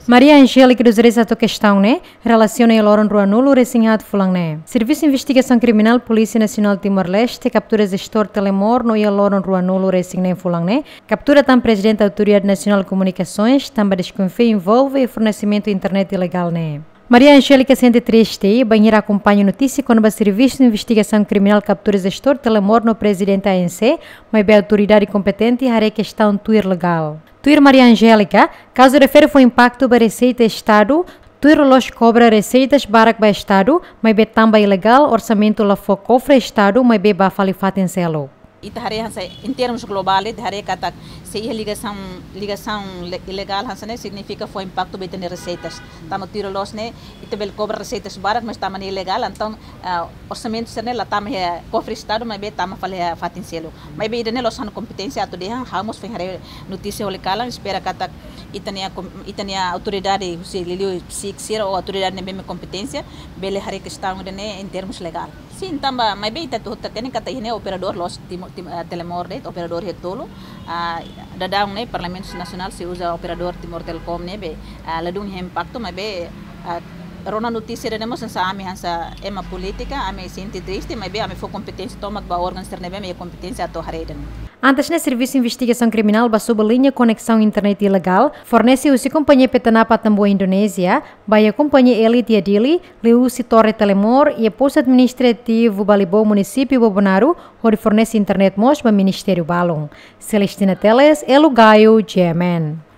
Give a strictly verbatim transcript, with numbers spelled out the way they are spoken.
Maria Angélica dos Reis hato'o kestaun ne'e relasiona iha loron rua nulu resin haat fulan ne'e. Servisu Investigasaun Kriminál Polísia Nasionál Timor-Leste kaptura jestór Telemor no iha loron rua nulu resin neen fulan ne'e kaptura tan Prezidente Autoridade Nasionál Komunikasoens tanba deskonfia envolve iha fornesimentu internet ilegál ne'e. Maria Angélica sente triste bainhira akompaña notísia kona-ba Servisu Investigasaun Kriminál kaptura jestór Telemor no Prezidente A N C, maibé autoridade kompetente haree kestaun tuir legál. Tuir Maria Angélica, kazu refere fó impaktu ba reseita Estadu, tuir loloos kobra reseitas barak ba Estadu, maibé tanba ilegál orsamentu la fó kofre Estadu, maibé bá fali fatin seluk. Ita haree hanesan, em termos global, ita haree katak se iha ligasaun, ligasaun le-, ilegál hanesan ne'e signifika fó impaktu ba ita-nia reseitas. Tanba tuir loloos ne'e, ita bele kobra reseitas barak, mas tanba ne'e ilegál, entaun, ah, orsamentu sira-ne'e la tama iha kofre Estadu, maibé tama fali iha fatin seluk. Maibé ida-ne'e la'ós ha'u-nia kompeténsia atu dehan, ha'u mós foin haree notísia holi kalan, espera katak ita-nia kom-, ita-nia autoridade, husi liuliu SIC sira ou autoridade ne'ebé mak kompeténsia, bele haree kestaun ida-ne'e em termos legál. Sin, tanba, maibé ita hotu hatene katak iha ne'e operadór loloos Timo-, Tim-, ah, Telemor de'it, operadór iha tolu, ah, daudaun ne'e Parlamentu Nasionál sei uza operadór Timor Telecom ne'ebé, ah, ladún iha impaktu, maibé, ah, rona notísia ida-ne'e mós hanesan ami hanesan ema polítika, ami sente triste, maibé ami fó kompeténsia tomak ba órgaun sira ne'ebé mak iha kompeténsia atu haree ida-ne'e. Antes ne'e, Servisu Investigasaun Kriminál bá sobu liña koneksaun internet ilegál fornese husi kompañia Petanapa Atambua Indonézia ba iha kompañia Elite iha Dili, liuhusi Torre Telemor iha Postu Administrativu Balibou, Munisípiu Bobonaro, hodi fornese internet mós ba ministériu balun. Celestina Teles, Elo Gaio, G M N.